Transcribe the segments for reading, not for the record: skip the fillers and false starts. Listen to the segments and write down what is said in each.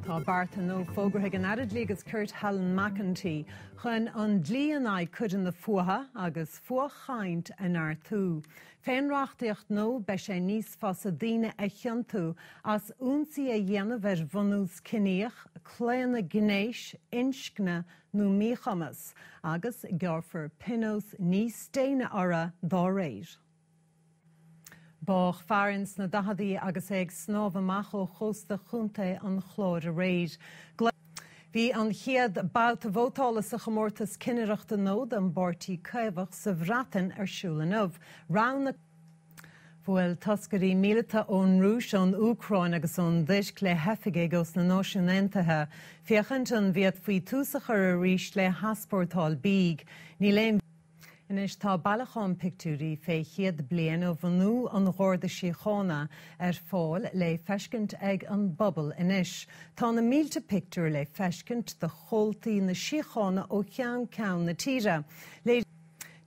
Tá bearta nua fógartha ag an Aire Dlí agus Cirt Helen McEntee chun an dlí in aghaidh coireanna fuatha agus fuathchaint a neartú. Fén reachtaíocht nua beidh sé níos fusa daoine a chiontú as ionsaí a dhéanamh ar bhunús ciníoch, claonadh gnéis, inscne nó míchumas, agus gearrfar pionós níos déine orthu dá réir. Bádh fear ins na daicheadaí agus é ag snámh amach ó chósta Chontae an Chláir aréir. Bhí an chéad babhta vótála sa chomórtas cinnireachta nua don bPáirtí Caomhach sa Bhreatain ar siúl inniu. Roghnaigh. Bhuail toscairí míleata ón Rúis, ón Úcráin agus ón dTuirc le hoifigigh ós na Náisiúin Aontaithe féachaint an bhféadfaí tús a chur arís le heaspórtáil bídh. Níl aon. Anois tá bailiúchán pictiúirí fé chéad bliain ó bhunú an Gharda Síochána ar fáil le feiscint ag an bpobal anois. Tá na mílte pictiúr le feiscint de chomhaltaí na síochána ó cheann ceann na tíre.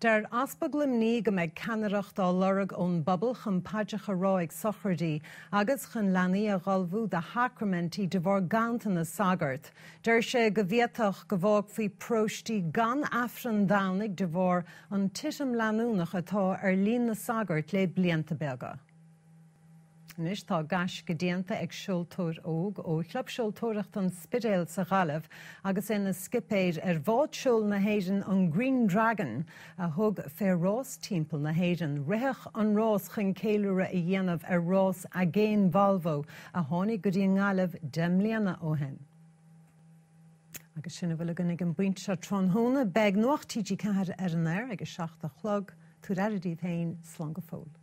Deir Easpag Luimnigh go mbeidh ceannaireacht á lorg ón bpobal chun paidreacha a rá ag sochraidí agus chun leanaí a dh'ullmhú do shacraimintí de bharr ganntanas sagart. Deir sé go bhféadfadh go bhfágfaí paróistí gan Aifreann Domhnaigh de bharr an titim leanúnach atá ar líon na sagart le blianta beaga. Anois tá gaisce déanta ag seoltóir óg ó Chlub Seoltóireachta an Spidéil sa Ghaillimh agus é ina scipéir ar bhád seoil na hÉireann an Green Dragon a thug fé rás timpeall na hÉireann. Ritheadh an rás chun ceiliúradh a dhéanamh ar rás Aigéin Volvo a tháinig go dtí an nGaillimh 10 mbliana ó shin. Agus sin a bhfuil againn ag an bpointe seo tráthnóna. Beidh Nuacht TG4 ar an aer ag a 7 a chlog. Tabhair aire daoibh féin. Slán go fóill.